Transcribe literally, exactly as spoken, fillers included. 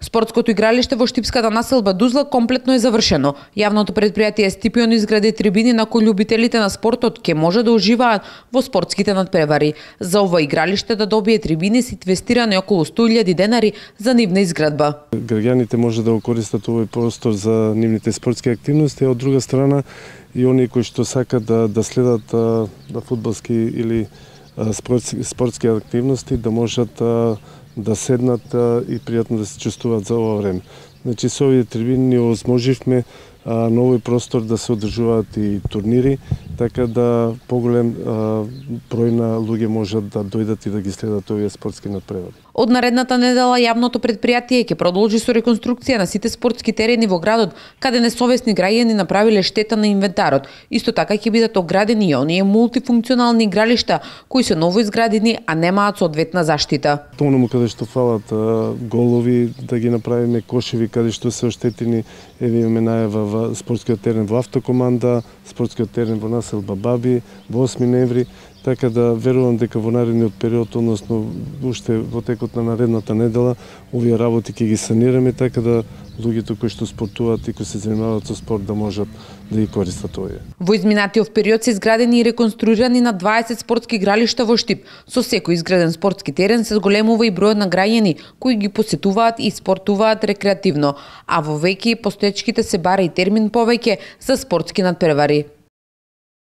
Спортското игралиште во Штипската населба Дузла комплетно е завршено. Јавното предпријатие Стипион изгради трибини на кои љубителите на спортот ќе може да уживаат во спортските надпревари. За ова игралиште да добие трибини се инвестирани околу сто илјади денари за нивна изградба. Граѓаните може да го користат овој простор за нивните спортски активности, а од друга страна и оние кои што сакат да да следат да фудбалски или спортски, спортски активности да можат да седнат и пријатно да се чувствуваат за ова време. Значи со овие трибини ни овозможивме на овој простор да се одржуваат и турнири, така да поголем број на луѓе можат да дојдат и да ги следат овие спортски надпревари. Од наредната недела јавното предпријатие ќе продолжи со реконструкција на сите спортски терени во градот, каде несовесни граѓани направиле штета на инвентарот. Исто така ќе бидат оградени и оние мултифункционални игралишта кои се новоизградени, а немаат соодветна заштита. Поному каде што фалат голови, да ги направиме кошеви каде што се оштетени, еве имаме најава во спортскиот терен во Автокоманда, спортскиот терен во населба Баби, во осми ноември, така да верувам дека во наредниот период, односно уште во текот на наредната недела, овие работи ќе ги санираме, така да луѓето кои што спортуваат и кои се занимаваат со спорт да можат да ги користат овие. Во изминатиот период се изградени и реконструирани на дваесет спортски игралишта во Штип. Со секој изграден спортски терен се зголемува и бројот на граѓани кои ги посетуваат и спортуваат рекреативно, а во веќе постоечките се бара и термин повеќе за спортски надпревари.